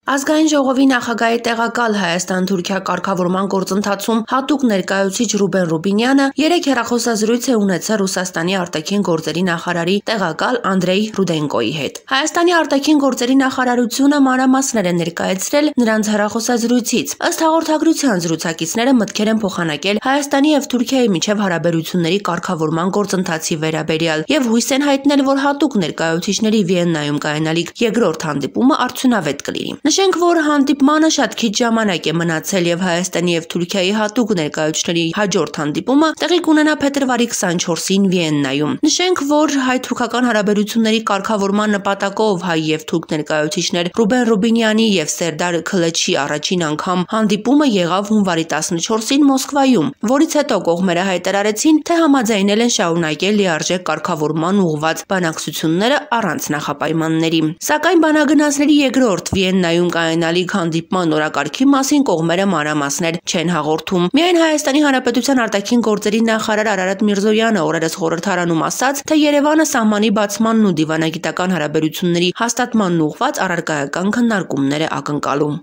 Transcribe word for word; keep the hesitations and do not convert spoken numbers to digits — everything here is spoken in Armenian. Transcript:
Ազգային ժողովի նախագահի տեղակալ Հայաստան-Թուրքիա կարգավորման գործընթացում հատուկ ներկայացուցիչ Ռուբեն Ռուբինյանը երեկ հեռախոսազրույց է ունեցել Ռուսաստանի արտաքին գործերի նախարարի տեղակալ Անդրեյ Ռուդենկոյի հետ։ Հայաստանի արտաքին գործերի նախարարությունը մանրամասներ է ներկայացրել նրանց հեռախոսազրույցից։ Ըստ հաղորդագրության զրուցակիցները մտքեր են փոխանակել Հայաստանի եւ Թուրքիայի միջև հարաբերությունների կարգավորման գործընթացի վերաբերյալ եւ հույս են հայտնել, որ հատուկ ներկայացուցիչների Վիեննայում կայանալիք երկրորդ հանդիպումը արդյունավետ կլինի։ Նշենք, որ հանդիպմանը շատ քիչ ժամանակ է մնացել եւ Հայաստանի եւ Թուրքիայի հատուկ ներկայացուցիչների հաջորդ հանդիպումը տեղի կունենա փետրվարի քսանչորսին Վիեննայում։ Նշենք, որ հայ-թուրքական հարաբերությունների կարգավորման նպատակով հայ եւ թուրք ներկայացուցիչներ Ռուբեն Ռուբինյանի եւ Սերդար Քլեչի առաջին անգամ հանդիպումը եղավ հունվարի տասնչորսին Մոսկվայում, որից հետո կողմերը հայտարարեցին, թե համաձայնել են շարունակել լիարժեք կարգավորման ուղղված բանակցությունները առանց նախապայմանների։ Սակայն բանագնացների երկրորդ Վիեննայում կայանալիք հանդիպման օրակարգի մասին կողմերը մանրամասներ չեն հաղորդում։ Միայն Հայաստանի Հանրապետության արտաքին գործերի նախարար Արարատ Միրզոյանը օրերս խորհրդարանում ասաց, թե Երևանը սահմանի բացմանն ու դիվանագիտական հարաբերությունների հաստատմանն ուղղված առարկայական քննարկումներ է ակնկալում։